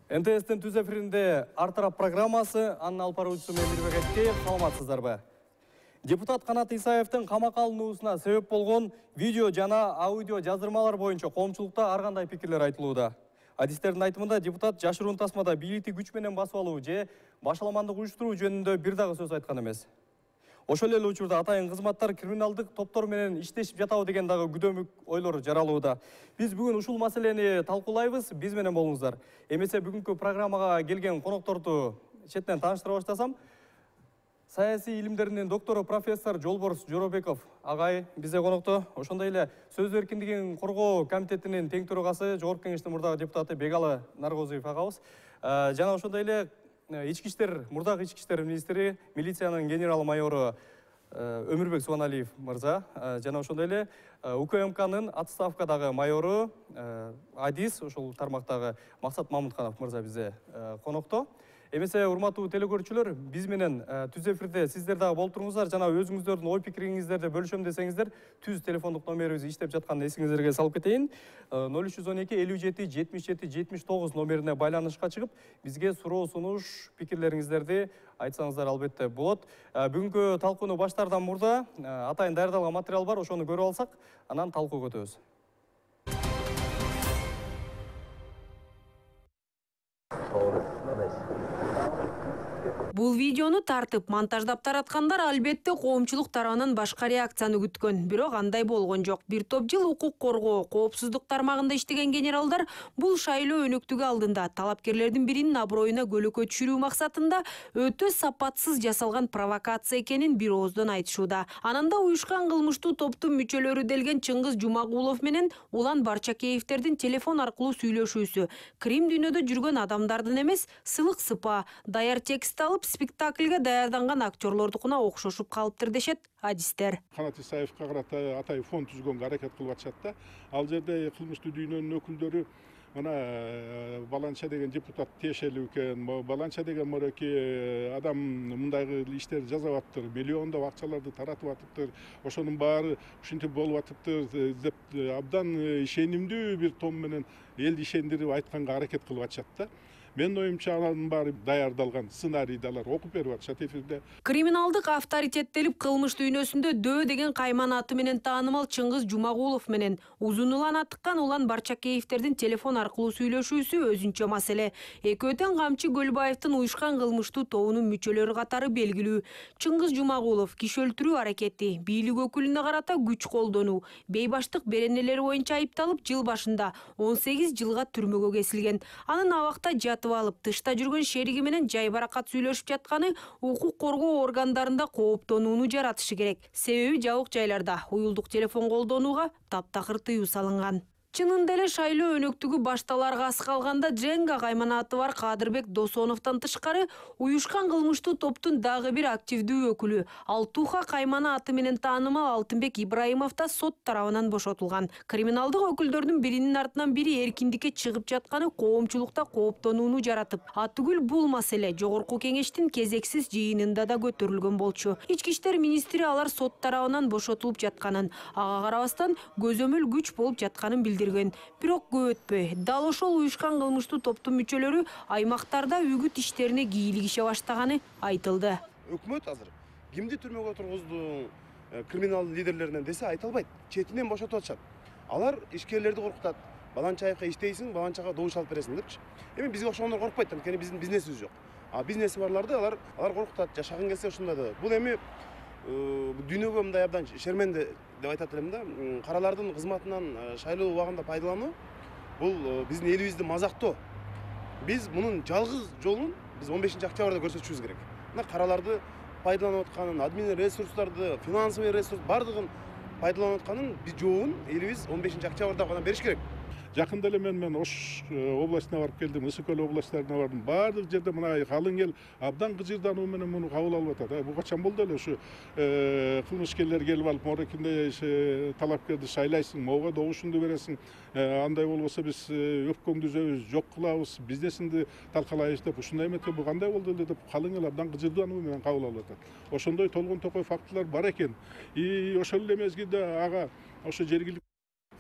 НТС'тин түз эфиринде Артарап программасы, анын алып баруучусу мен Мирбек Айтбеков, саламатсыздарбы? Депутат Канат Исаевдин камакка алынуусуна себеп болгон видео жана аудио жаздырмалар боюнча коомчулукта ар кандай пикирлер айтылууда. Адистердин айтымында депутат жашыруун тасмада бийликти күч менен басып алуу же башаламандык уюштуруу жөнүндө бир дагы сөз айткан эмес. Ошол эле учурда атайын кызматтар криминалдык топтор менен иштешип жатабы деген дагы күдөмүк ойлор жаралууда. Биз бүгүн ушул маселени талкуулайбыз, биз менен болуңуздар. Эмесе бүгүнкү программага келген конокторду четинен тааныштыра баштасам, саясий илимдеринин доктору профессор Жолборс Жоробеков агай бизде конокто. Ошондой эле сөз эркиндигин коргоо комитетинин тең төрагасы, жогорку кеңештин мурдагы депутаты Бегалы Наргозиев агабыз. Жана ошондой эле мурдагы ички иштер министри, милициянын генерал майору Өмүрбек Субаналиев мырза, жана ошондой эле УКМКнын отставкадагы майору, адис ошол тармактагы Максат Мамутканов мырза бизде конокто. Эмесе урматтуу телекөрүүчүлөр, биз менен түз эфирде сиздер дагы болуп туруңуздар, жана өзүңүздөрдүн ой пикириңиздерди бөлүшөм десеңиздер, түз телефондук номерибиз иштеп жатканын эсиңиздерге салып кетейин. 0312 57 77 79 номерине байланышка чыгып, бизге суроо сунуш, пикирлериңиздерди айтсаңыздар албетте болот. Бүгүнкү талкууну баштаардан мурда атайын даярдалган материал бар, ошону көрүп алсак, анан талкууга өтөбүз. Бул видеону тартып, монтаждап тараткандар албетте коомчулук тарабынан башка реакцияны күткөн. Бирок андай болгон жок. Бир топ жыл укук коргоо, коопсуздук тармагында иштеген генералдар бул шайлоо өнөктүгү алдында талапкерлердин биринин аброюна көлөкө түшүрүү максатында өтө сапатсыз жасалган провокация экенин бир ооздон айтышууда. Ананда уюшкан кылмыштуу топтун мүчөлөрү делген Чыңгыз Жумагулов менен Улан Барчакеевдердин телефон аркылуу сүйлөшүүсү, Крим дүйнөдө жүргөн адамдардын эмес, сылык сыпа, даяр текст алып спектакльге даярданган актерлордукуна окшошуп калыптыр дешет адистер. Канат Исаевге карата атай фон түзгөнгө аракет кылып атышат да. Ал жерде кылмыштуу дүйнөнүн өкүлдөрү мына баланча деген депутат тиешелүү экен, баланча деген моряки адам мындайгы иштерди жасап атыптыр, миллиондоп акчаларды таратып атыптыр, ошонун баары ушинтип болуп атыптыр деп абдан ишенимдүү бир тон менен элди ишендирип айтканга аракет кылып атышат да. Менин оюмча анын баары даярдалган сценарийди алар окуп берип атышат эфирде. Криминалдык авторитеттелип кылмыш дүйнөсүндө Дөө деген кайман аты менен таанымал Чыңгыз Жумагулов менен Узун Улан аттыккан Улан Барчакеевдердин телефон аркылуу сүйлөшүүсү өзүнчө маселе. Экөө тең Камчы Көлбаевдин уюшкан кылмыштуу тобунун мүчөлөрү катары белгилүү. Чыңгыз Жумагулов киши өлтүрүү аракети, бийлик өкүлүнө карата күч колдонуу, бейбаштык беренелери боюнча айыпталып, жыл башында 18 жылга түрмөгө кесилген. Анын абакта алып, тышта жүргөн шериги менен жайбаракат сүйлөшүп жатканы укук коргоо органдарында кооптонууну жаратышы керек. Себеби жабык жайларда уюлдук телефон колдонууга таптакыр тыюу салынган. Чынында эле шайлоо өнөктүгү башталарга аз калганда Дженга кайманаты бар Кадырбек Досоновдон тышкары уюшкан кылмыштуу топтун дагы бир активдүү өкүлү Алтуха каймана аты менен таанымал Алтынбек Ибраимов да сот тарабынан бошотулган. Криминалдык өкүлдөрдүн биринин артынан бири эркиндикке чыгып жатканы коомчулукта кооптонууну жаратып, атүгүл бул маселе жогорку кеңештин кезексиз жыйынында да көтөрүлгөн болчу. Ички иштер министри алар сот тарабынан бошотулуп жатканын, ага карабастан көзөмөл күч болуп жатканын билдирген. Бирок көп өтпөй, дал ошол уюшкан кылмыштуу топтун мүчөлөрү аймактарда үгүт иштерине кийлигише баштаганы айтылды. Өкмөт азыр кимди түрмөгө тургузду, криминал лидерлеринен десе айта албайт. Четинен бошотуп атышат. Алар ишкерлерди коркутат. Баланчаевка иштейсиң, баланчага добуш алып бересиң депчи. Эми бизге окшогондор коркпойт, анткени биздин бизнесибиз жок. А бизнеси барларды алар коркутат, жашагың келсе ушундай да. Бул эми дүйнөгө мындай абдан шерменде деп айтат элем да. Каралардын кызматынан шайлоо убагында пайдалануу бул биздин элибизди мазактоо. Биз мунун жалгыз жолун биз 15-октябрда көрсөтүшүбүз керек. Мына караларды пайдаланып атканын, админ ресурстарды, финансовый ресурс бардыгын пайдаланып атканын биз жообун элибиз 15-октябрда гана бериш керек. Жакында эле мен Ош областына барып келдим, Ысык көл областарына бардым. Баардык жерде мына калың эл абдан кыжырдануу менен муну кабыл алып атат. Бу качан болду эле ушу кылмышкерлер келип алып, морекинде талапкерди шайлайсың, могу добушуңду бересиң, андай болбосо биз өпкөңдү үзөбүз, жок кылабыз, бизнесиңди талкалайбыз деп ушундай эмете бу кандай болду эле деп калың эл абдан кыжырдануу менен кабыл алып атат. Ошондой толгон токой фактылар бар экен. И ошол эле мезгилде ага ошо жергиликтүү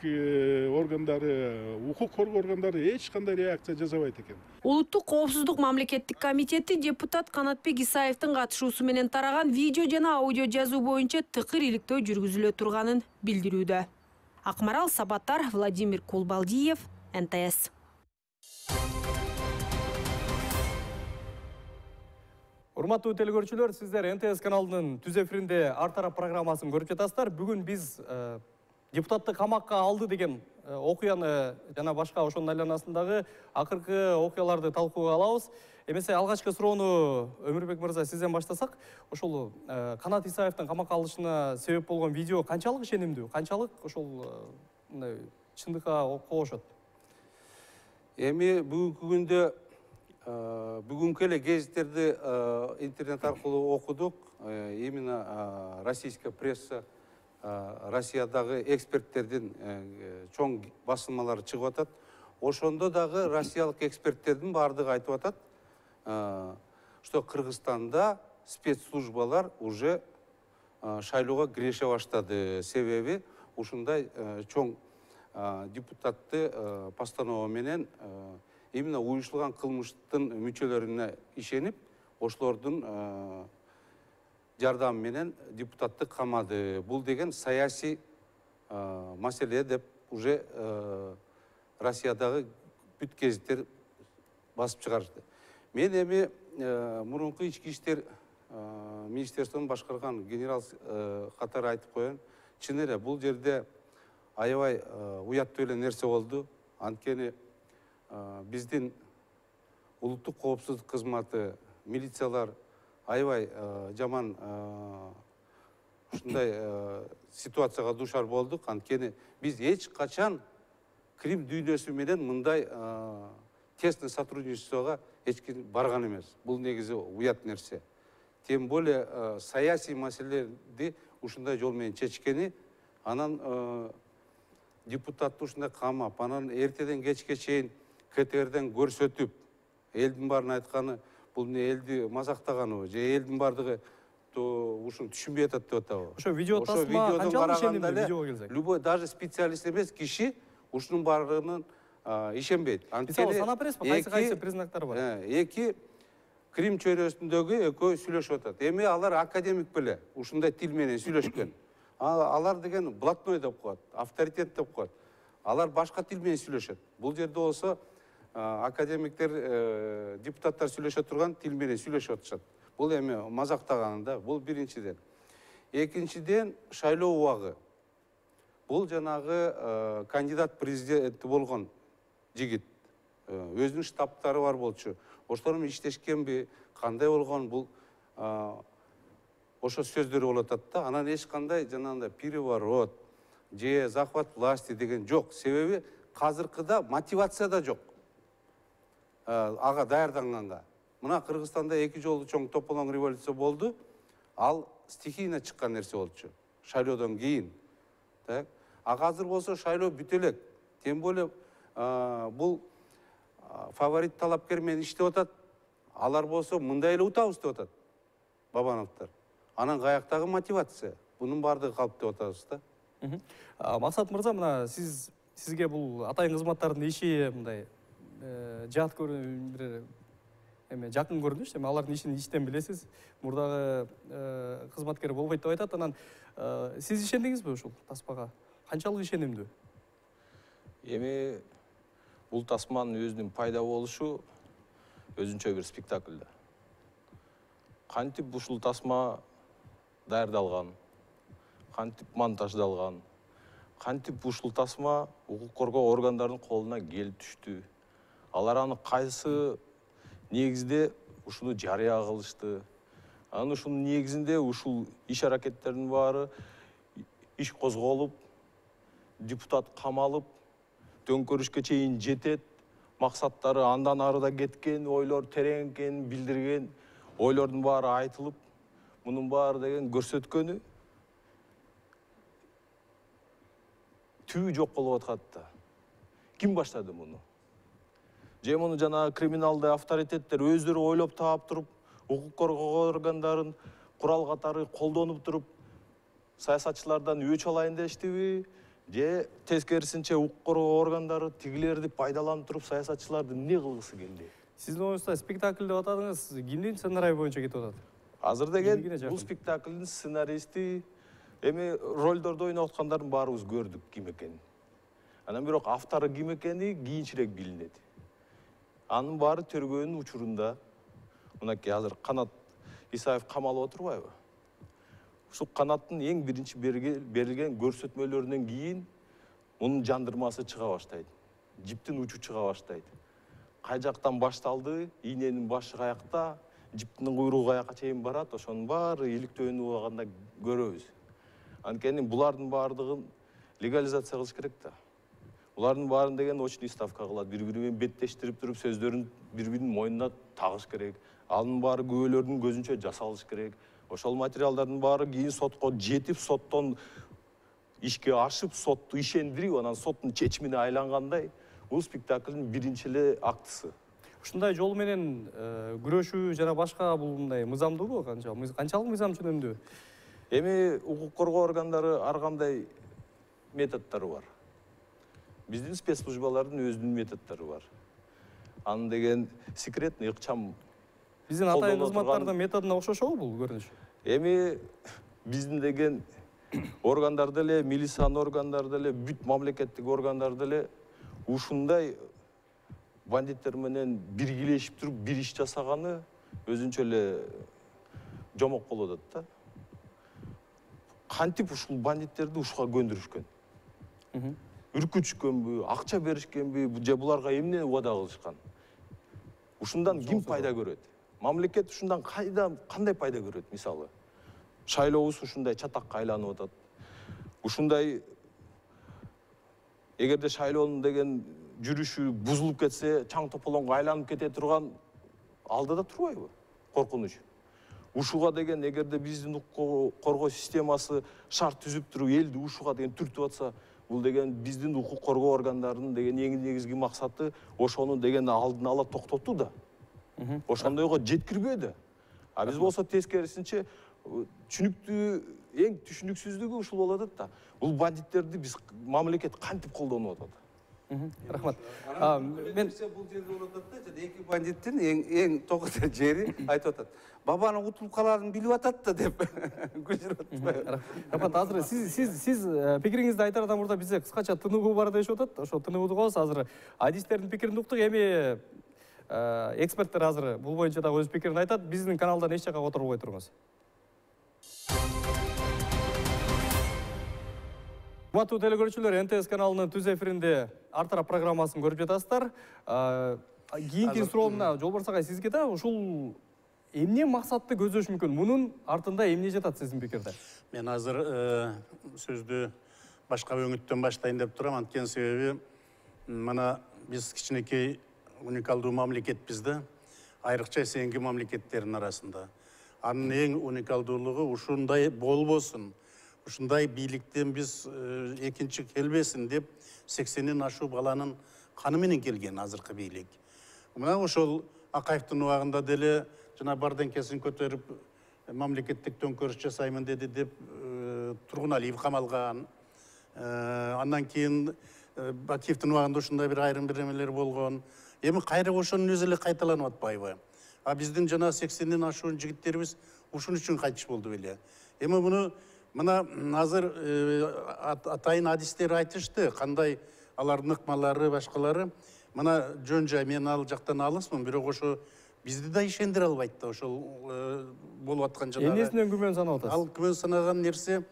органдары, укук коргоо органдары эч кандай реакция жасабайт экен. Улуттук коопсуздук мамлекеттик комитети депутат Канатбек Исаевдин катышуусу менен тараган видео жана аудио жазуу боюнча тыкыр иликтөө жүргүзүлө турганын билдирүүдө. Акмарал Сабаттар, Владимир Кулбалдиев, НТС. Урматтуу телекөрүүчүлөр, сиздер НТС каналынын түз эфиринде Ар тарап программасын көрүп жатасыздар. Бүгүн биз депутатты камакка алды деген окуяны жана башка ошонун айланасындагы акыркы окуяларды талкууга алабыз. Эмесе алгачкы суроону Өмүрбек мырза сизден баштасак, ошол Канат Исаевдин камакка алышына себеп болгон видео канчалык ишенимдүү, канчалык ошол мындай чындыкка кошот? Эми бүгүнкү күндө бүгүнкү эле гезиттерди интернет аркылуу окудук. Именно российская пресса, Россиядагы эксперттердин чоң басылмалары чыгып атат. Ошондо дагы россиялык эксперттердин баардыгы айтып атат, что Кыргызстанда спецслужбалар уже шайлоого киреше баштады. Себеби ушундай чоң депутатты постанова менен именно уюштурулган кылмыштын мүчөлөрүнө ишенип, ошолордун жардамы менен депутатты камады. Бул деген саясий маселе деп уже Россиядагы бүт гезиттер басып чыгарышты. Мен эми мурунку ички иштер министерствонун башкарган генерал катары айтып коеюн. Чын эле бул жерде аябай уяттуу эле нерсе болду. Анткени биздин улуттук коопсуздук кызматы, милициялар аябай жаман ушундай ситуацияга дуушар болдук. Анткени биз эч качан Крим дүйнөсү менен мындай тесный сотрудничествого эч ким барган эмес. Бул негизи уят нерсе. Тем более саясий маселелерди ушундай жол менен чечкени, анан депутатты ушундай камап, анан эртеден кечке чейин КТРден көрсөтүп, элдин баарын айтканы, бул эмне элди мазактаганыбы, же элдин баардыгы ушуну түшүнбөй атат деп атабы. Ошо видео тасма канчалык ишенимдүү видеого келсек? Любой, даже специалист эмес киши ушунун баарынын ишенбейт. Мисалы санап бересизби, кайсы признактар бар? Эки Крим чөйрөсүндөгү экөө сүйлөшүп атат. Эми алар академик беле ушундай тил менен сүйлөшкөн. Алар деген блатной деп коет, авторитет деп коет. Алар башка тил менен сүйлөшөт. Бул жерде болсо академиктер, депутаттар сүйлөшө турган тил менен сүйлөшүп атышат. Бул эми мазактаган да, бул биринчиден. Экинчиден, шайлоо убагы. Бул жанагы кандидат президенти болгон жигит, өзүнүн штабтары бар болчу. Ошолор менен иштешкенби, кандай болгон, бул ошо сөздөрү болуп атат да. Анан эч кандай жанагындай переворот же захват власти деген жок. Себеби азыркыда мотивация да жок. Ага даярданганга. Мына Кыргызстанда 2 жолу чоң тополоң революция болду. Ал стихийно чыккан нерсе болчу. Шайлоодон кийин. Так. Азыр болсо шайлоо бүтө элек. Тем более бул фаворит талапкер менен иштеп атат. Алар болсо мындай эле утабыз деп атат. Бабановдор. Анан каяктагы мотивация? Бунун баардыгы калп деп атабыз да. Максат мырза, мына сизге бул атайын кызматтардын иши мындай жат көрүнүп, эме жакын көрүнүш, эми алардын ишин иштен билесиз. Мурдагы кызматкер болбойт деп айтат. Анан сиз ишендиңизби ушул таспага? Канчалык ишенимдүү? Эми бул тасманын өзүнүн пайда болушу өзүнчө бир спектакль да. Кантип ушул тасма даярдалган, кантип монтаждалган, кантип ушул тасма укук коргоо органдарынын колуна келип түштү. Алар аны кайсы негизде ушуну жарыя кылышты. Анын ушунун негизинде ушул иш-аракеттердин баары иш козголуп, депутат камалып, төңкөрүшкө чейин жетет, максаттары андан арыда кеткен, ойлор терең экенин билдирген, ойлордун баары айтылып, мунун баары деген көрсөткөнү түбү жок болуп аткат да. Ким баштады муну? Же муну жана криминалдык авторитеттер өздөрү ойлоп таап туруп, укук коргоо органдарын курал катары колдонуп туруп, саясатчылардан өч алайын дештиби, же тескерисинче укук коргоо органдары тигилерди пайдаланып туруп саясатчыларды эмне кылгысы келди? Сиздин оюңузда спектакль деп атадыңыз, кимдин сценарийи боюнча кетип атат? Азыр деген Кимге жакын? бул спектаклдин сценаристи эми ролдорду ойноп аткандардын баарыбыз көрдүк ким экенин. Анан бирок автору ким экени кийинчерээк билинет. Анын баары тергөөнүн учурунда. Мынакей азыр Канат Исаев камалып отурбайбы? Ушул Канаттын эң биринчи берилген көрсөтмөлөрүнөн кийин мунун жандырмасы чыга баштайт. Жиптин учу чыга баштайт. Кай жактан башталды, ийненин башы каякта, жиптин куйругу каяка чейин барат, ошонун баары иликтөөнү убагында көрөбүз. Анткени булардын баардыгын легализация кылыш керек да. Булардын баарын деген очный ставка кылат, бири-бири менен беттештирип туруп сөздөрүн бири-биринин мойнуна тагыш керек. Анын баары күбөлөрдүн көзүнчө жасалыш керек. Ошол материалдардын баары кийин сотко жетип, соттон ишке ашып, сотту ишендирип, анан соттун чечимине айлангандай бул спектаклдын биринчи эле актысы. Ушундай жол менен күрөшүү жана башка бул мындай мыйзамдуубу, канчалык мыйзам чөнөмдүү? Эми укук коргоо органдары ар кандай методдору бар. Биздин спецслужбалардын өзүнүн методдору бар. Анын деген секретный ыкчам. Биздин атайын кызматтардын методуна окшошобу бул көрүнүш? Эми биздин деген органдар деле, милициянын органдары деле, бүт мамлекеттик органдар деле ушундай бандиттер менен биргелешип туруп бир иш жасаганы өзүнчө эле жомок болуп атат да. Кантип ушул бандиттерди ушуга көндүрүшкөн? Үркүтүшкөнбү, акча беришкенби, же буларга эмне убада кылышкан? Ушундан ким пайда көрөт? Мамлекет ушундан кандай пайда көрөт? Мисалы, шайлообуз ушундай чатакка айланып атат. Ушундай эгерде шайлоонун деген жүрүшү бузулуп кетсе, чаң тополоңго айланып кете турган алдыда турбайбы? Коркунуч. Ушуга деген эгерде биздин укук коргоо системасы шарт түзүп туруп элди ушуга деген түртүп атса, бул деген биздин укук коргоо органдарынын деген эң негизги максаты ошону деген алдын ала токтотуу да. Ошондойго жеткирбөө да. А биз болсо тескерисинче түшүнүктүү, эң түшүнүксүздүгү ушул болуп атат да. Бул бандиттерди биз мамлекет кантип колдонуп атат? Рахмат. Мен бул жерде болуп атат да, эки бандиттин эң токотор жери айтып атат. Бабанын утулуп каларын билип атат да деп күлүшүп атат. Рахмат, азыр сиз пикириңизди айтар адам мурда бизде кыскача тынугу бар дешип атат. Ошо тынугуду коебуз. Азыр адистердин пикирин уктук. Эми эксперттер азыр бул боюнча да өз пикирин айтат. Биздин каналдан эч жакка которбой туруңуз. Урматтуу телекөрүүчүлөр, НТС каналынын түз эфиринде ар тарап программасын көрүп жатасыздар. Кийинки суроомуна Жолборс агай сизге да ушул эмне максатты көздөш мүмкүн? Мунун артында эмне жатат сиздин пикирде? Мен азыр сөздү башка өңүттөн баштайын деп турам. Анткени себеби мына биз кичинекей уникалдуу мамлекетпиз да, айрыкча эсенки мамлекеттердин арасында. Анын эң уникалдуулугу ушундай болбосун, ушундай бийликтен биз экинчи келбесин деп 80-ден ашуу баланын каны менен келген азыркы бийлик. Мына ошол Акаевдин убагында деле жана бардеңкесин көтөрүп мамлекеттик төңкөрүш жасаймын деди деп Тургуналиев камалган. Андан кийин Бакиевдин убагында ушундай бир айрым бир эмелер болгон. Эми кайра ошонун өзү эле кайталанып атпайбы? А биздин жана 80-ден ашуун жигиттерибиз ушун үчүн кайтыш болду беле. Эми муну мына азыр атайын адистер айтышты, кандай алардын ыкмалары, башкалары. Мына жөн жай, мен ал жактан алысмын, бирок ошо бизди да ишендире албайт да ошол болуп аткан жанагы. Эмнесинен күмөн санап атасыз? Ал күмөн санаган нерсе,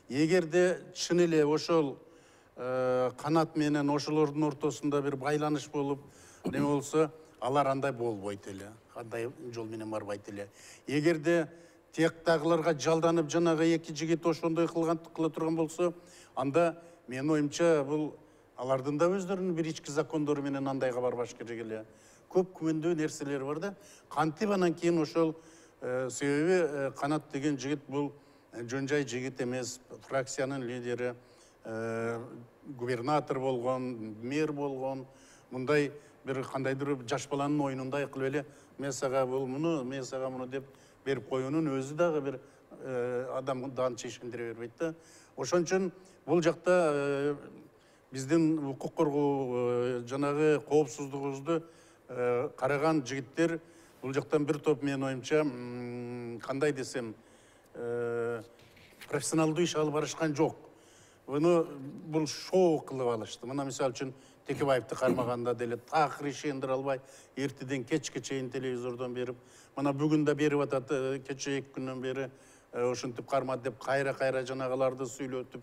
эгерде чын эле ошол Канат менен ошолордун ортосунда бир байланыш болуп, неме болсо, алар андай болбойт эле. Андай жол менен барбайт эле. Эгерде тияктагыларга жалданып жанагы эки жигит ошондой кыла турган болсо, анда менин оюмча бул алардын да өздөрүнүн бир ички закондору менен андайга барбаш керек эле. Көп күмөндүү нерселер бар да. Кантип анан кийин ошол себеби Канат деген жигит бул жөн жай жигит эмес, фракциянын лидери, губернатор болгон, мэр болгон, мындай бир кандайдыр жаш баланын оюнундай кылып эле мен сага бул муну, мен сага муну деп берип коюунун өзү дагы бир адамдан чечиндире бербейт да. Ошон үчүн бул жакта биздин укук коргоо жанагы коопсуздугубузду караган жигиттер бул жактан бир топ менин оюмча кандай десем профессионалдуу иш алып барышкан жок. Буну бул шоу кылып алышты. Мына мисалы үчүн Текебаевди кармаганда деле такыр ишендире албай, эртеден кечке чейин телевизордон берип, мына бүгүн да берип атат, кече 2 күндөн бери ошентип кармады деп кайра жанагыларды сүйлөтүп,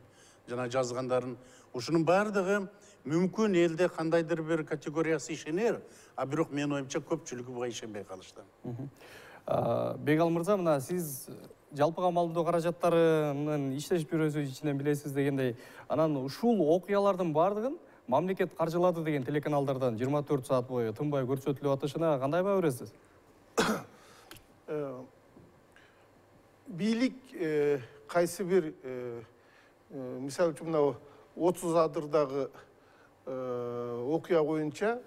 жана жазгандарын. Ушунун баардыгы мүмкүн элде кандайдыр бир категориясы ишенер, а бирок менин оюмча көпчүлүгү буга ишенбей калышты. Бегал мырза, мына сиз жалпыга малымдоо каражаттарынын иштешип жүрүүсү ичинен билесиз дегендей, анан ушул окуялардын баардыгын мамлекет каржылады деген телеканалдардан 24 саат бою тынбай көрсөтүлүп атышына кандай баа бересиз? Бийлик кайсы бир мисалы үчүн мына 30 адырдагы окуя боюнча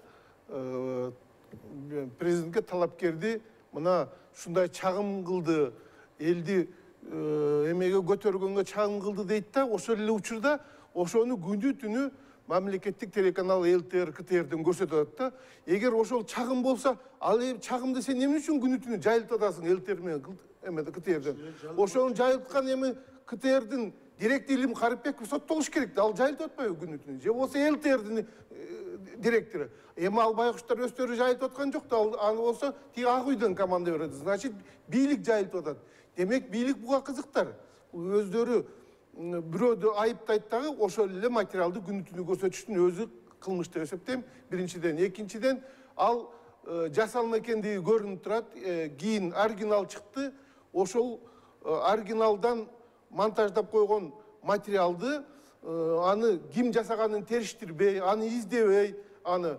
президентке талапкерди мына ушундай чагым кылды, элди эмеге көтөргөнгө чагым кылды дейт да, ошол эле учурда ошону күнү түнү мамлекеттик телеканал ЛТР, КТРден көрсөтүп атат да. Эгер ошол чагым болсо, ал чагымды сен эмне үчүн күнү түнү жайылтып атасың ЛТР менен эмеде КТРден? Ошону жайылткан эми КТРдин директори Илим Карипбеков соттолуш керек да, ал жайылтып атпайбы күнү түнү? Же болсо ЛТРдин директору. Эми ал байкуштар өздөрү жайылтып аткан жок да, аны болсо тиги Ак үйдөн команда берет. Значит, бийлик жайылтып атат. Демек, бийлик буга кызыктар. Өздөрү бирөөдү айыптайт дагы, ошол эле материалды күнү түнү көрсөтүштүн өзү кылмыш деп эсептейм. Биринчиден, экинчиден, ал жасалма экендиги көрүнүп турат. Кийин оригинал чыкты. Ошол оригиналдан монтаждап койгон материалды аны ким жасаганын териштирбей, аны издебей, аны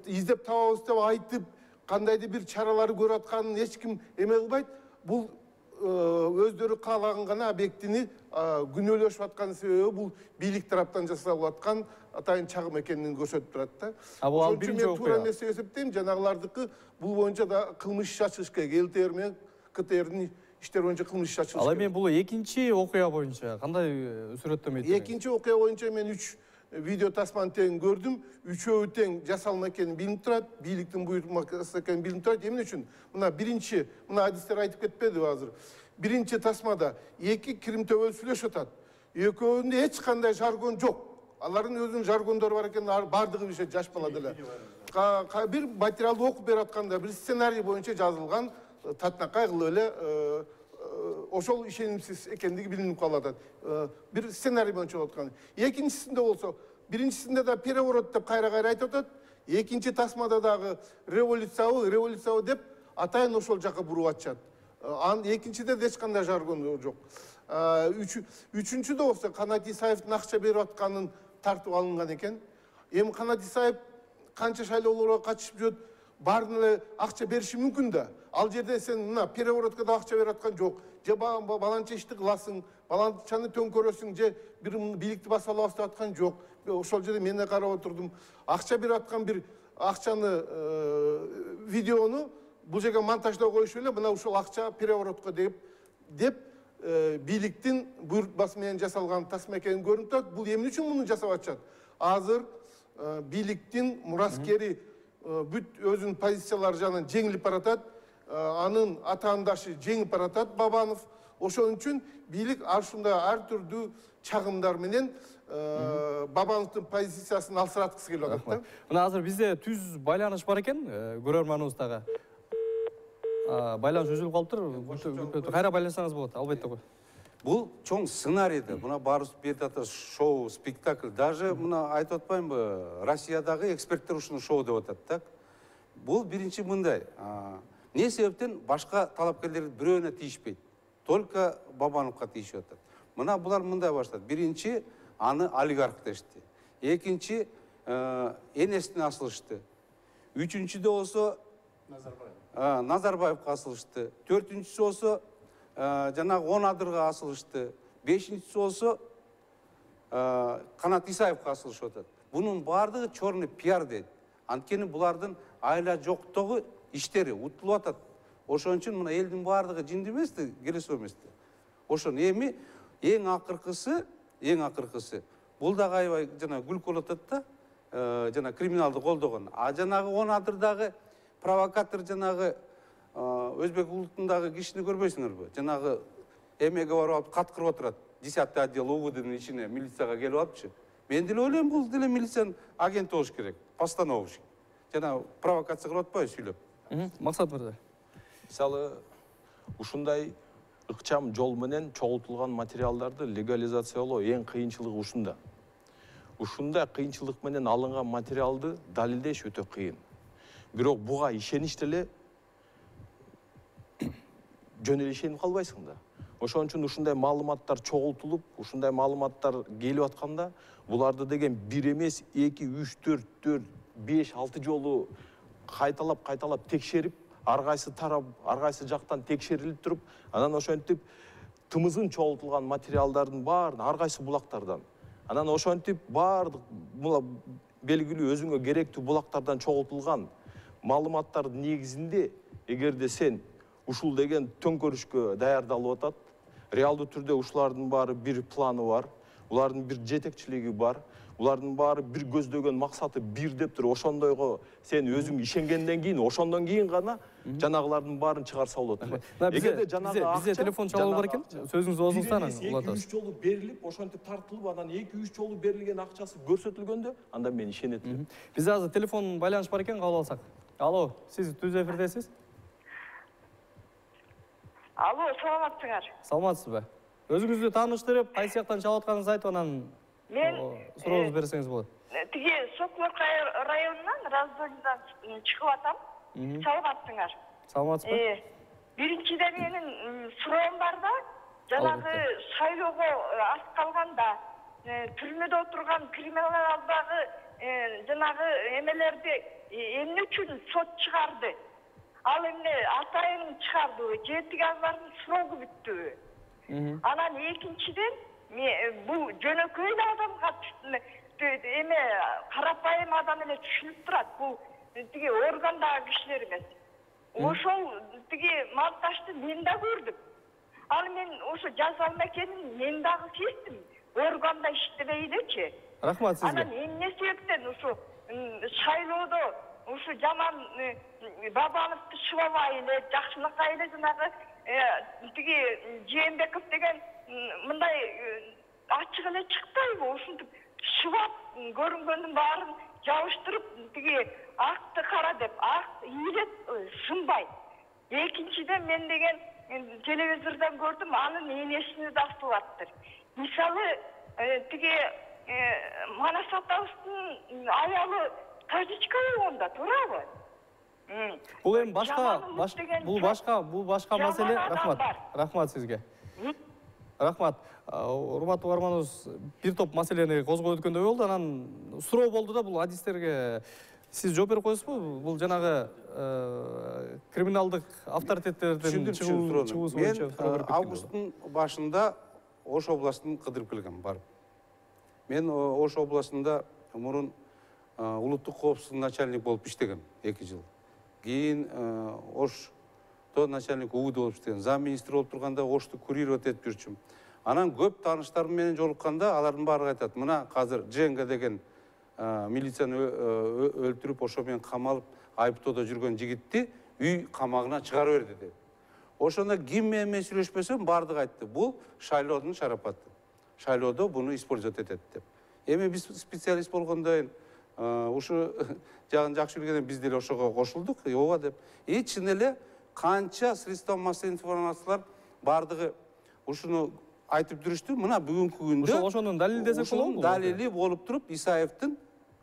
издеп табабыз деп айтып, кандайдыр бир чараларды көрүп атканын эч ким эме кылбайт. Бул өздөрү каалаган гана объектини күнөөлөшүп аткан себеби бул бийлик тараптан жасалып аткан атайын чагым экенин көрсөтүп турат да. Ал биринчи окуя. Туура эмес деп эсептейм. Жанагылардыкы бул боюнча да кылмыш иш ачылыш керек. ЛТР менен КТРдин иштери боюнча кылмыш иш ачылыш керек. Ал эми бул экинчи окуя боюнча кандай сүрөттөмө этти? Экинчи окуя боюнча мен 3 видео тасманы тең көрдүм. Үчөө тең жасалма экени билинип турат, бийликтин буйрмасы экени билинип турат. Эмне үчүн? Мына биринчи, мына адистер айтып кетпедиби азыр? Биринчи тасмада 2 кирим төбөл сүйлөшүп атат. Экөөнүндө эч кандай жаргон жок. Алардын өзүнүн жаргондору бар экен, бардыгы билишет, жаш бала деле. Бир материалды окуп берип атканда, бир сценарий боюнча жазылган, татынакай кылып эле ошол ишенимсиз экендиги билинип калып атат. Бир сценарий боюнча болуп аткан. Экинчисинде болсо, биринчисинде да переворот деп кайра айтып атат. Экинчи тасмада дагы революциябы деп атайын ошол жака буруп атышат. Экинчиде эч кандай жаргон жок. Үчүнчүдө болсо Канат Исаевдин акча берип атканын тартып алынган экен. Эми Канат Исаев канча шайлоолорго катышып жүрөт, баарын эле акча бериши мүмкүн да. Ал жерде сен мына переворотко да акча берип аткан жок. Же баланча ишти кыласың, баланчаны төңкөрөсүң, же бир бийликти басып алабыз деп аткан жок. Ошол жерде мен да карап отурдум. Акча берип аткан бир акчаны видеону бул жерге монтаждоо коюшуп эле, мына ушул акча переворотко деп бийликтин буйртмасы менен жасалган тасма экени көрүнүп турат. Бул эмне үчүн муну жасап атышат? Азыр бийликтин мураскери бүт өзүнүн позициялары жагынан жеңилип баратат. Анын атаандашы жеңип баратат, Бабанов. Ошон үчүн бийлик ушундай ар түрдүү чагымдар менен Бабановдун позициясын алсыраткысы келип атат да. Мына азыр бизде түз байланыш бар экен, көрөрманыбыз дагы. Байланыш үзүлүп калыптыр. Кайра байлансаңыз болот, албетте го. Бул чоң сценарийди. Мына барыбыз берип атат шоу, спектакль. Даже мына айтып атпаймынбы, Россиядагы эксперттер ушуну шоу деп атат да. Бул биринчи мындай. Не себептен башка талапкерлер бирөөнө тийишпейт. Только Бабановго тийишип атат. Мына булар мындай баштады. Биринчи аны олигарх дешти. Экинчи энесине асылышты. Үчүнчүдө болсо Назарбаевга асылышты. Төртүнчүсү болсо жанагы 10 адырга асылышты. Бешинчиси болсо Канат Исаевга асылышып атат. Бунун баардыгы черный пиар дейт. Анткени булардын айла жоктогу иштери утулуп атат. Ошон үчүн мына элдин баардыгы жинди эмести, келиси эмести. ошону эми эң акыркысы бул дагы аябай жана күлкү болуп атат да, жана криминалды колдогон. А жанагы 10 адырдагы провокатор жанагы өзбек улутундагы кишини көрбөйсүңөрбү? Жанагы эмеге барып алып каткырып отурат. 10-й отдел УВДнын ичине милицияга келип алыпчы. Мен деле ойлойм, бул деле милициянын агенти болуш керек. Постанова болуш керек. Жана провокация кылып атпайбы сүйлөп? Максат мырза. Мисалы, ушундай ыкчам жол менен чогултулган материалдарды легализациялоо эң кыйынчылыгы ушунда. Ушундай кыйынчылык менен алынган материалды далилдеш өтө кыйын. Бирок буга ишенич деле жөн эле ишенип калбайсың да. Ошон үчүн ушундай маалыматтар чогултулуп, ушундай маалыматтар келип атканда, буларды деген 1 эмес, 2, 3, 4, 4, 5, 6 жолу кайталап текшерип, ар кайсы тарап, ар кайсы жактан текшерилип туруп, анан ошентип тымызын чогултулган материалдардын баарын ар кайсы булактардан, анан ошентип баардык белгилүү өзүңө керектүү булактардан чогултулган маалыматтардын негизинде, эгерде сен ушул деген төңкөрүшкө даярдалып атат, реалдуу түрдө ушулардын баары бир планы бар, улардын бир жетекчилиги бар, улардын баары бир көздөгөн максаты бир деп туруп, ошондойго сен өзүң ишенгенден кийин, ошондон кийин гана жанагылардын баарын чыгарса болот. Эгерде жанагы бизде телефон чалуу бар экен, сөзүңүздү озуңуздан улатасыз. 2-3 жолу берилип, ошентип тартылып, анан 2-3 жолу берилген акчасы көрсөтүлгөндө, анда мен ишенет элем. Бизде азыр телефон байланыш бар экен, кабыл алсак. Алло, сиз түз эфирдесиз? Алло, саламатсыңар. Саламатсызбы? Өзүңүздү тааныштырып, кайсы жактан чалып атканыңызды айтып, анан мен сурооңузду берсеңиз болот. Тиги Сокулорка районунан Раздольдан чыгып атам. Саламатсыңар. Саламатсызбы? Биринчиден менин суроом бар да, жанагы шайлоого аз калганда түрмөдө отурган криминалдагы жанагы эмелерди эмне үчүн сот чыгарды? Ал эмне атайын чыгардыбы, же тиги алардын сроку бүттүбү? Анан экинчиден бул жөнөкөй эле адамга эме карапайым адам эле түшүнүп турат. Бул тиги органдагы кишилер эмес. Ошол тиги монтажды мен да көрдүм. Ал мен ошо жаза алмакенин мен дагы сездим. Органда иштебей элечи. Рахмат сизге. Анан эмне себептен ушу шайлоодо ушу жаман Бабановду шыбабай эле, жакшылыкка эле жанагы тиги Жээнбеков деген мындай ачык эле чыкпайбы? Ушинтип шыбап көрүнгөндүн баарын жабыштырып, тиги акты кара деп, ак ийилет сынбай. Экинчиден мен деген телевизордон көрдүм, анын энесини да астылаттыр. Мисалы, тиги Манас атабыздын аялы Тажичка болгондо туурабы? Бул эми бул башка маселе. Рахмат сизге. Рахмат. Урматтуу угарманыбыз, бир топ маселени козгоп өткөндөй болду. Анан суроо болду да, бул адистерге сиз жооп берип коесузбу? Бул жанагы криминалдык авторитеттердин чыгуусу боюнча суроо берип кеттим. Августтун башында Ош областын кыдырып келгем барып. Мен Ош областында мурун улуттук коопсуздук начальник болуп иштегем 2 жыл. Кийин Ошто начальник УВД болуп иштегем. Зам министр болуп турганда Ошто курировать этип жүрчүм. Анан көп тааныштарым менен жолукканда алардын баары айтат: "Мына азыр Дженга деген милицияны өлтүрүп, ошо менен камалып, айыптоодо жүргөн жигитти үй камагына чыгарып берди" деп. Ошондо ким менен сүйлөшпөсөм, баардыгы айтты: "Бул шайлоодун шарапаты. Шайлоодо буну использовать этет" деп. Эми биз специалист болгондон ушу жагын жакшы билгенден биз деле ошого кошулдук, ооба деп. Чын эле канча средства массовой информациялар баардыгы ушуну айтып жүрүштү. Мына бүгүнкү күндө ошонун далили десек болобу? Далили болуп туруп, Исаевдин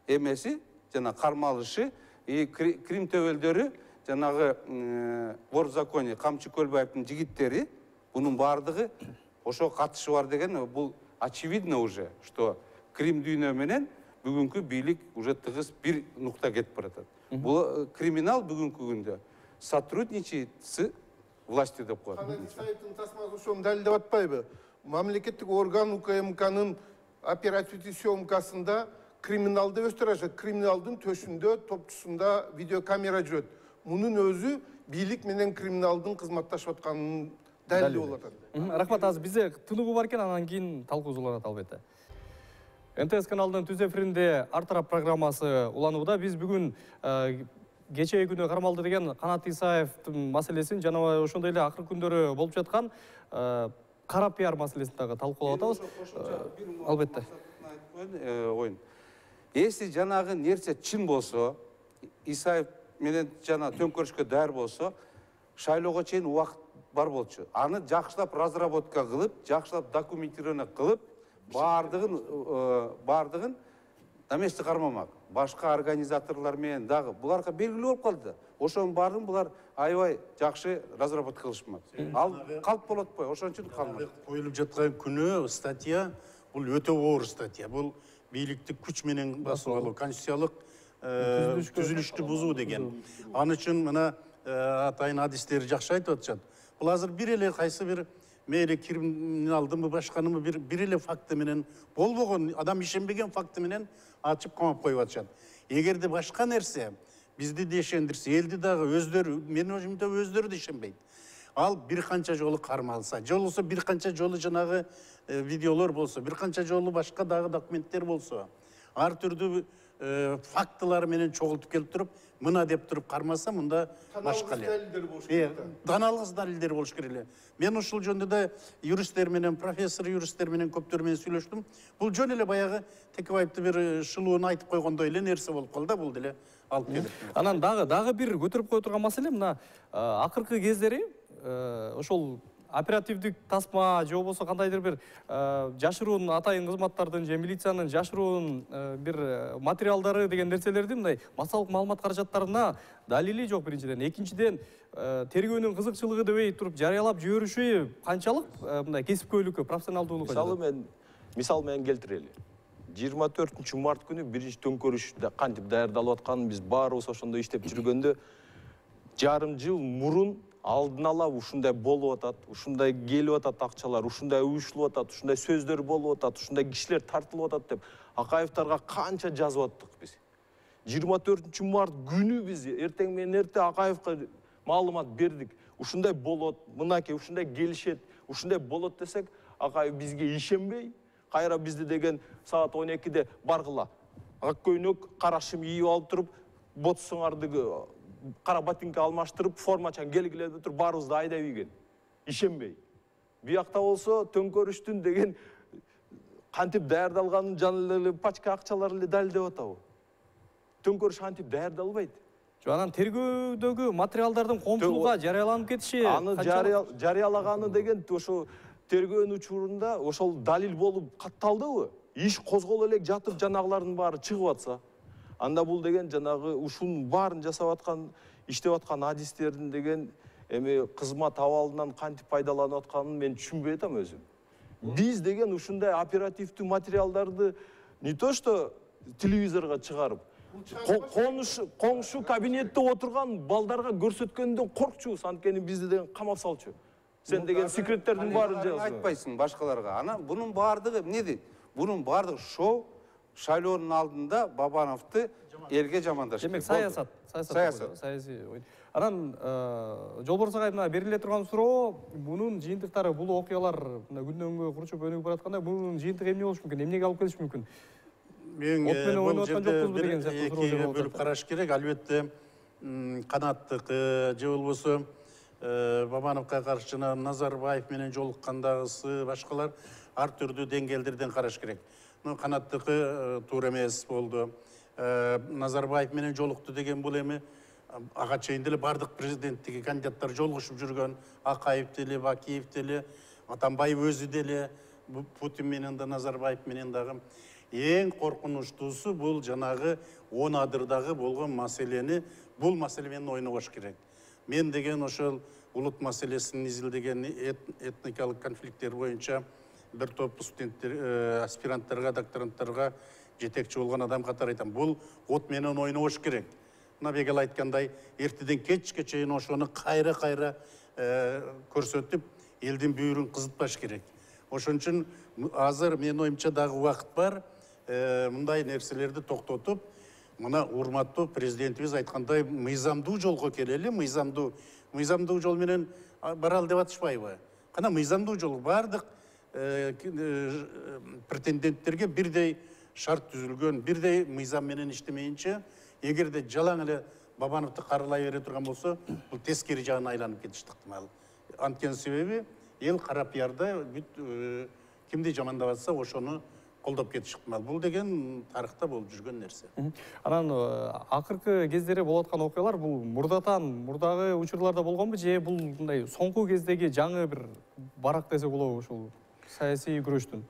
эмеси жана кармалышы, Крим төбөлдөрү, жанагы вор в законе Камчы Көлбаевдин жигиттери, бунун баардыгы ошо катышы бар деген, бул очевидно уже, что Крим дүйнө менен бүгүнкү бийлик уже тыгыз бир нукта кетип баратат. Бул криминал бүгүнкү күндө сотрудничает с властью деп коет. Исаевдин тасмасы ошону далилдеп атпайбы? Мамлекеттик орган УКМКнын оперативдик съемкасында криминалды өстүрөшөт. Криминалдын төшүндө, топчусунда видеокамера жүрөт. Мунун өзү бийлик менен криминалдын кызматташып атканын далили болуп атат. Рахмат, азыр бизде тынугу бар экен, анан кийин талкуу уланат албетте. НТС каналынын түз эфиринде Ар тарап программасы уланууда. Биз бүгүн кечээ күнү кармалды деген Канат Исаевдин маселесин жана ошондой эле акыркы күндөрү болуп жаткан кара пиар маселесин дагы талкуулап атабыз. Албетте. Оюн. Если жанагы нерсе чын болсо, Исаев менен жана төңкөрүшкө даяр болсо, шайлоого чейин убакыт бар болчу. Аны жакшылап разработка кылып, жакшылап документирование кылып, бардыгын на месте кармамак. Башка организаторлор менен дагы буларга белгилүү болуп калды. Ошонун баарын булар аябай жакшы разработка кылышмак. Ал калп болот го, ошон үчүн калмак. Коюлуп жаткан күнү статья бул өтө оор статья. Бул бийликти күч менен басып алуу, конституциялык түзүлүштү бузуу деген. Аны үчүн мына атайын адистери жакшы айтып атышат. Бул азыр бир эле кайсы бир мейли криминалдымы башканымы бир эле факты менен болбогон, адам ишенбеген факты менен ачып камап коюп атышат. Эгерде башка нерсе бизди да ишендирсе, элди дагы өздөрү, менин оюмда өздөрү да ишенбейт. Ал бир канча жолу кармалса, же болбосо бир канча жолу жанагы видеолор болсо, бир канча жолу башка дагы документтер болсо, ар түрдүү фактылар менен чогултуп келип туруп, мына деп туруп кармаса, мында башка эле. Таналгыс далилдер болуш керек эле. Мен ушул жөнүндө да юристтер менен, профессор юристтер менен көптөр менен сүйлөштүм. Бул жөн эле баягы Текебаевди бир шылууну айтып койгондой эле нерсе болуп калды, бул деле алып келип. Анан дагы бир көтөрүп кое турган маселе мына акыркы кездери ошол оперативдик тасма же болбосо кандайдыр бир жашыруун атайын кызматтардын же милициянын жашыруун бир материалдары деген нерселерди мындай массалык маалымат каражаттарына далили жок биринчиден. Экинчиден тергөөнүн кызыкчылыгы дебей туруп жарыялап жибериши канчалык мындай кесипкөйлүккө, профессионалдуулукка. Мисал менен келтирели. 24 март күнү биринчи төңкөрүш кантип даярдалып атканын биз баарыбыз ошондо иштеп жүргөндө жарым жыл мурун алдын ала ушундай болуп атат, ушундай келип атат акчалар, ушундай уюшулуп атат, ушундай сөздөр болуп атат, ушундай кишилер тартылып атат деп Акаевдарга канча жазып аттык биз. 24 март күнү биз эртең менен эрте Акаевга маалымат бердик. Ушундай болот, мынакей ушундай келишет, ушундай болот десек, Акаев бизге ишенбей, кайра бизди деген саат 12-де баргыла. Ак көйнөк, кара шым ийип алып туруп, ботсуңарды кара ботинка алмаштырып, формачан келгиле деп туруп, баарыбызды айдап ийген. Ишенбей. Биякта болсо төңкөрүштүн деген кантип даярдалганын жана эле пачка акчалар эле далилдеп атабы. Төңкөрүш кантип даярдалбайт. Анан тергөөдөгү материалдардын коомчулукка жарыяланып кетиши. Аны жарыялаганы деген ошо тергөөнүн учурунда ошол далил болуп катталдыбы? Иш козголо элек жатып жанагылардын баары чыгып атса. Анда бул деген жанагы ушунун баарын жасап аткан, иштеп аткан адистердин деген эми кызмат абалынан кантип пайдаланып атканын мен түшүнбөй атам өзүм. Биз деген ушундай оперативдүү материалдарды не то что телевизорго чыгарып, коңшу кабинетте отурган балдарга көрсөткөндөн коркчубуз, анткени бизди деген камап салчу. Сен деген секреттердин баарын жазып айтпайсың башкаларга. Анан бунун баардыгы эмне дейт? Бунун баардыгы шоу, шайлоонун алдында Бабановду элге жамандашты. Демек саясат. Саясий ой. Анан Жолборс агай мына бериле турган суроо, бунун жыйынтыктары, бул окуялар мына күндөн күнгө курчуп өнүгүп баратканда, бунун жыйынтыгы эмне болуш мүмкүн? Эмнеге алып келиш мүмкүн? Мен бул жерде экиге бөлүп караш керек. Албетте Канаттыкы же болбосо Бабановго каршы Назарбаев менен жолуккандагысы башкалар ар түрдүү деңгээлдерден караш керек. Канаттыкы туура эмес болду. Назарбаев менен жолукту деген бул эми ага чейин деле бардык президенттикке кандидаттар жолугушуп жүргөн. Акаев деле, Бакиев деле, Атамбаев өзү деле, Путин менен да, Назарбаев менен дагы. Эң коркунучтуусу бул жанагы 10 адырдагы болгон маселени, бул маселе менен ойнобош керек. Мен деген ошол улут маселесин изилдеген этникалык конфликттер боюнча бир топ студенттер, аспиранттарга, докторанттарга жетекчи болгон адам катары айтам. Бул от менен ойнобош керек. Мына бегел айткандай, эртеден кечке чейин ошону кайра көрсөтүп, элдин бүйүрүн кызытпаш керек. Ошон үчүн азыр менин оюмча дагы убакыт бар. Мындай нерселерди токтотуп, мына урматтуу президентибиз айткандай мыйзамдуу жолго келели, мыйзамдуу жол менен баралы деп атышпайбы? кана мыйзамдуу жолу баардык претенденттерге бирдей шарт түзүлгөн, бирдей мыйзам менен иштемейинче, эгерде жалаң эле Бабановду каралай бере турган болсо, бул тескери жагына айланып кетиши ыктымал. Анткени себеби эл кара пиарда бүт кимди жамандап атса ошону колдоп кетиши ыктымал. Бул деген тарыхта болуп жүргөн нерсе. Анан акыркы кездери болуп аткан окуялар бул мурдагы учурларда болгонбу же бул мындай соңку кездеги жаңы бир барак десек болобу ушул саясий күрөштүн?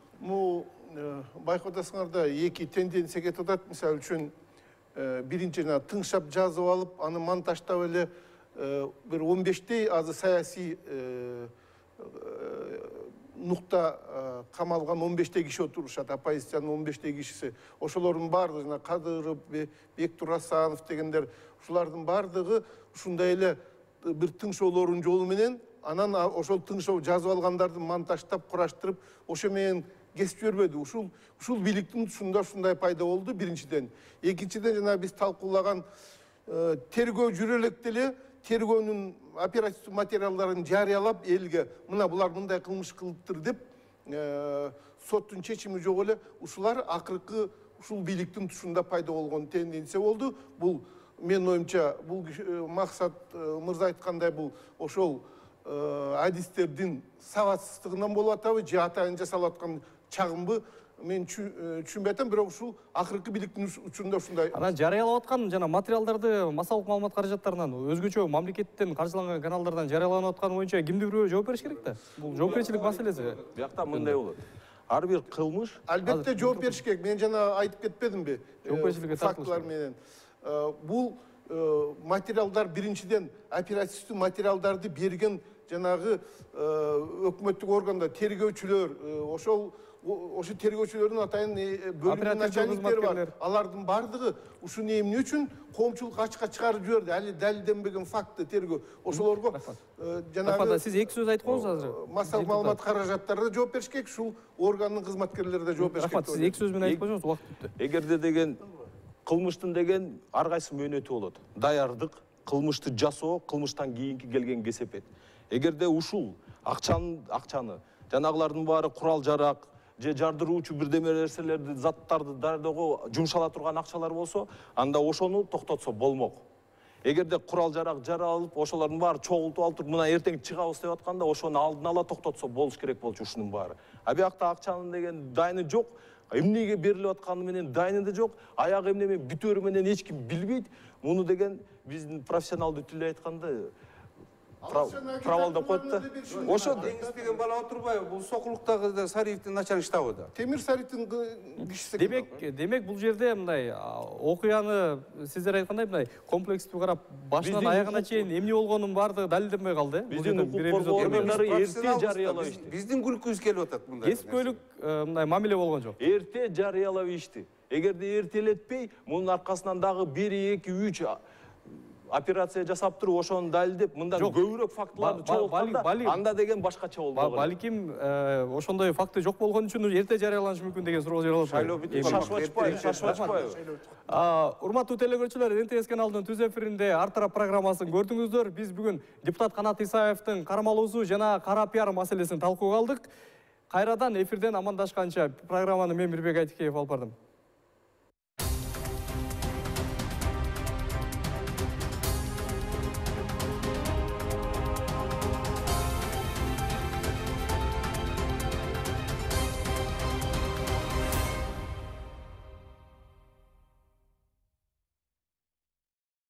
Байкап атасыңарда эки тенденция кетип атат. Мисалы үчүн биринчи тыңшап жазып алып, аны монтаждап эле бир 15тей азы саясий нукта камалган 15тей киши отурушат, оппозициянын 15тей кишиси. Ошолордун баардыгы жана Кадыров, Бектур Асанов дегендер, ушулардын баардыгы ушундай эле бир тыңшоолордун жолу менен, анан ошол тыңшоо жазып алгандарды монтаждап, кураштырып, ошо менен кесип жибербеди. Ушул бийликтин тушунда ушундай пайда болду биринчиден. Экинчиден жана биз талкуулаган тергөө жүрө электе эле тергөөнүн оперативдик материалдарын жарыялап элге мына булар мындай кылмыш кылыптыр деп соттун чечими жок эле ушулар акыркы ушул бийликтин тушунда пайда болгон тенденция болду. Бул менин оюмча бул Максат мырза айткандай бул ошол адистердин сабатсыздыгынан болуп атабы же атайын жасалып аткан чагымбы мен түшүнбөй атам, бирок ушул акыркы бийликтин учурунда ушундай. Анан жарыялап аткан жана материалдарды массалык маалымат каражаттарынан өзгөчө мамлекеттен каржыланган каналдардан жарыяланып атканы боюнча кимди бирөө жооп бериш керек да? Бул жоопкерчилик маселеси. Биякта мындай болот. Ар бир кылмыш албетте жооп бериш керек. Мен жана айтып кетпедимби? Жоопкерчиликке фактылар менен. Бул материалдар биринчиден оперативдик материалдарды берген жанагы өкмөттүк органдар, тергөөчүлөр, ошо тергөөчүлөрдүн атайын бөлүм начальниктери бар. Алардын бардыгы ушуну эмне үчүн коомчулук ачыкка чыгарып жиберди? Али далилденбеген факты тергөө. Ошолорго жанагы сиз эки сөз айткып коюңуз азыр. Массалык маалымат каражаттары да жооп бериш керек, ушул органдын кызматкерлери да жооп бериш керек. Сиз эки сөз менен айтып коюңуз, убакыт бүттү. Эгерде деген кылмыштын деген ар кайсы мөөнөтү болот. Даярдык, кылмышты жасоо, кылмыштан кийинки келген кесепет. Эгерде ушул акчаны жанагылардын баары курал жарак же жардыруучу бирдеме нерселерди, заттарды даярдоого жумшала турган акчалар болсо, анда ошону токтотсо болмок. Эгерде курал жарак жаралып, ошолордун баары чогултуп алып туруп, мына эртең чыгабыз деп атканда, ошону алдын ала токтотсо болуш керек болчу ушунун баары. А биякта акчанын деген дайыны жок, эмнеге берилип атканы менен дайыны да жок, аягы эмне менен бүтөөрү менен эч ким билбейт. Муну деген биздин профессионалдуу тилде айтканда провалдап коет да. Ошо Деңиз деген бала отурбайбы? Бул Сокулуктагы Сариевдин начальник штабы да. Темир Сариевдин кишиси. Демек бул жерде мындай окуяны сиздер айткандай мындай комплекстүү карап, башынан аягына чейин эмне болгонун баардыгы далилденбей калды. Биздин укук коргоо органдары эрте жарыялап ишти. Биздин күлкүбүз келип атат мындай. Кесипкөйлүк мындай мамиле болгон жок. Эрте жарыялап ишти. Эгерде эртелетпей, мунун аркасынан дагы 1, 2, 3 операция жасап туруп, ошону далилдеп, мындан көбүрөөк фактыларды чогултканда, анда деген башкача болмок. Балким ошондой факты жок болгон үчүн эрте жарыяланышы мүмкүн деген суроо жаралат. Шашып. Урматтуу телекөрүүчүлөр, НТС каналынын түз эфиринде Ар тарап программасын көрдүңүздөр. Биз бүгүн депутат Канат Исаевдин кармалуусу жана кара пиар маселесин талкууга алдык. Кайрадан эфирден амандашканча программаны мен Мирбек Айтикеев алып бардым.